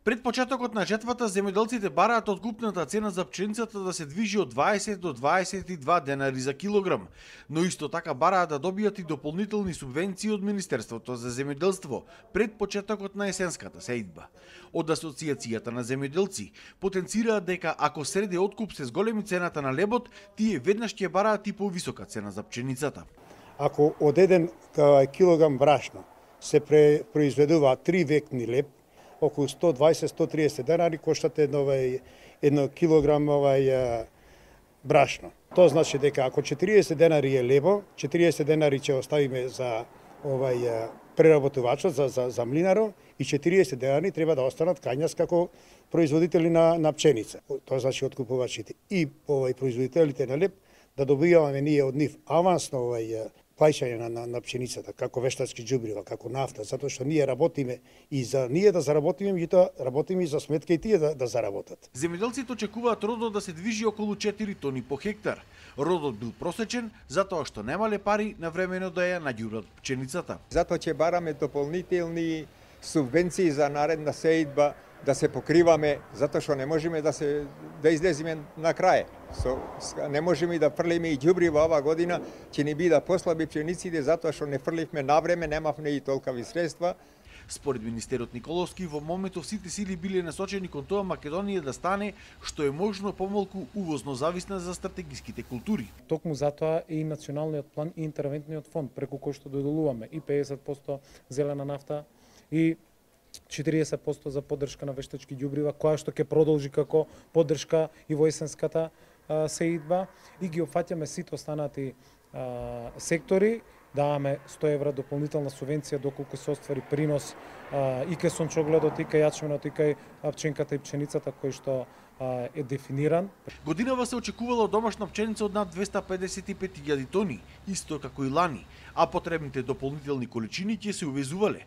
Пред почетокот на жетвата, земјоделците бараат откупната цена за пченицата да се движи од 20 до 22 денари за килограм, но исто така бараат да добијат и дополнителни субвенции од Министерството за земјоделство пред почетокот на есенската сејдба. Од Асоциацијата на земјоделци потенцираат дека ако среде откуп се зголеми цената на лебот, тие веднаш ќе бараат и повисока цена за пченицата. Ако од еден килограм брашно се произведува 3 векни леб, околу 120-130 денари коштат едно килограм брашно. Тоа значи дека ако 40 денари е лебо, 40 денари ќе оставиме за преработувачот, за млинарот, и 40 денари треба да останат кај нас како производители на пченица. Тоа значи откупувачите и производителите на леб да добиваме ние од нив авансно плаќање на пшеницата, како вештачки џубрива, како нафта, затоа што ние работиме и за ние да заработиме, меѓутоа работиме и за сметка и тие да заработат. Земјоделците очекуваат родот да се движи околу 4 тони по хектар. Родот бил просечен затоа што немале пари навремено да ја наѓурат пченицата. Затоа ќе бараме дополнителни субвенции за наредна сејдба, да се покриваме, затоа што не можеме да излеземе на крај. Не можеме да фрлиме и ѓубрива ова година, ќе ни бида послаби пчениците затоа што не фрливме навреме, немавме и толкави средства. Според министерот Николовски, во моментов сите сили биле насочени кон тоа Македонија да стане што е можно помалку увозно зависна за стратегиските култури. Токму затоа и националниот план и интервентниот фонд преку кој што доделуваме и 50% зелена нафта и 40% за поддршка на вештачки ѓубрива, која што ќе продолжи како поддршка и во есенската сејдба, и ги опфаќаме сите останати сектори, даваме 100 евра дополнителна субвенција доколку се оствари принос и кај сончогледот, и кај јачменот, и кај пченката и пченицата кој што е дефиниран. Годинава се очекувала домашна пченица од над 255.000 тони, исто како и лани, а потребните дополнителни количини ќе се увезувале.